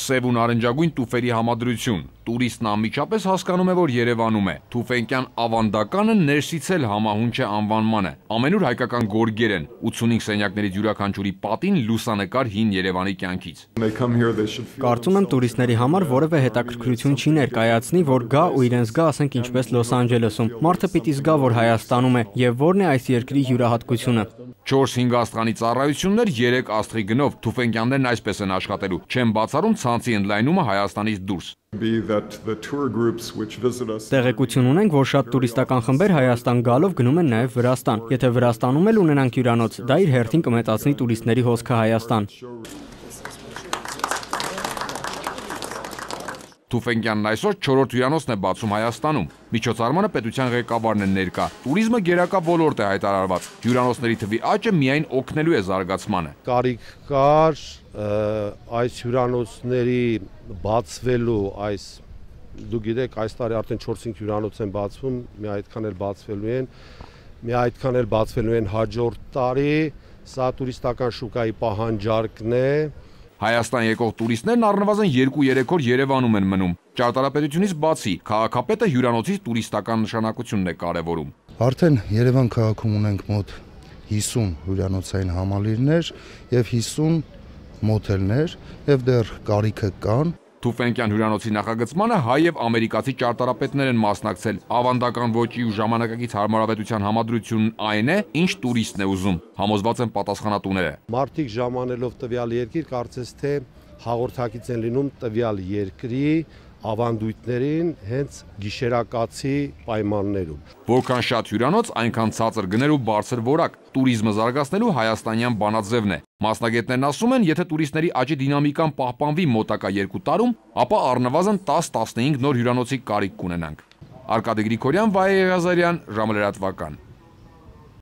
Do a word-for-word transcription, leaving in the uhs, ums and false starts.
Սև ու նարնջագույն տուֆերի համադրություն։ Տուրիստն անմիջապես հասկանում է, որ Երևանում է։ Թուֆենկյան ավանդականը ներսից էլ համահունչ է անվանմանը։ Ամենուր հայկական գորգեր են, ութսունհինգ սենյակներից յուրաքանչյուրի պատին լուսանկար հին Երևանի կյանքից։ Կարծում եմ տուրիստների համար որևէ հետաքրքրություն չի ներկայացնի, որ գա ու իրենց գա, ասենք ինչպես Լոս Անջելեսում։ Մարդը պիտի զգա, որ Հայաստանում է եւ որն է այս երկրի յուրահատկությունը։ չորս-հինգ աստղանի ծառայություններ, երեք աստղի գնով, թուֆենկյաններն այսպես են աշխատելու, չեն բացառում ցանցի ընդլայնումը Հայաստանից դուրս։ Տեղեկություն ունենք, որ շատ տուրիստական խմբեր Հայաստան գալով գնում են նաև Վրաստան։ Եթե Վրաստանում էլ ունենանք հյուրանոց, դա իր հերթին կմեծացնի տուրիստների հոսքը Հայաստան։ Թուֆենկյանն այսօր չորրորդ հյուրանոցն է բացում Հայաստանում։ Միջոցառմանը պետության ղեկավարն է ներկա։ Տուրիզմը գերակա ոլորտ է հայտարարված։ Հյուրանոցների թվի աճը միայն օգնելու է զարգացմանը։ Կարիք կար այս հյուրանոցների բացվելու, այս դու գիտեք, այս տարի արդեն չորս-հինգ հյուրանոց են բացվում, մի այդքան էլ բացվելու են, մի այդքան էլ բացվելու են հաջորդ տարի, սա տուրիստական շուկայի պահանջարկն է։ Հայաստան եկող տուրիստներն առնվազն երկու-երեք օր Երևանում են մնում։ Ճարտարապետությունից բացի, քաղաքապետը հյուրանոցի տուրիստական նշանակությունն է կարևորում։ Արդեն Երևան քաղաքում ունենք մոտ հիսուն հյուրանոցային համալիրներ եւ հիսուն մոթելներ եւ դեռ կարիքը կան։ Թուֆենկյան հյուրանոցի նախագծմանը հայ եւ ամերիկացի ճարտարապետներ են մասնակցել։ Ավանդական ոճի ու ժամանակակից հարմարավետության համադրությունն այն է, ինչ տուրիստն է ուզում։ Համոզված են պատասխանատուները։ Մարդիկ ժամանելով տվյալ երկիր, կարծես թե հաղորդակից են լինում տվյալ երկրի ավանդույթներին հենց գիշերակացի պայմաններում։ Որքան շատ հյուրանոց, այնքան ցածր գներ ու բարձր որակ։ Տուրիզմը զարգացնելու հայաստանյան բանաձևն է։ Մասնագետներն ասում են, եթե տուրիստների աճի դինամիկան պահպանվի մոտակա երկու տարում, ապա առնվազն տաս-տասնհինգ նոր հյուրանոցի կարիք կունենանք։ Արկադի Գրիգորյան, Վայե Եղիազարյան, ժամը լրատվական։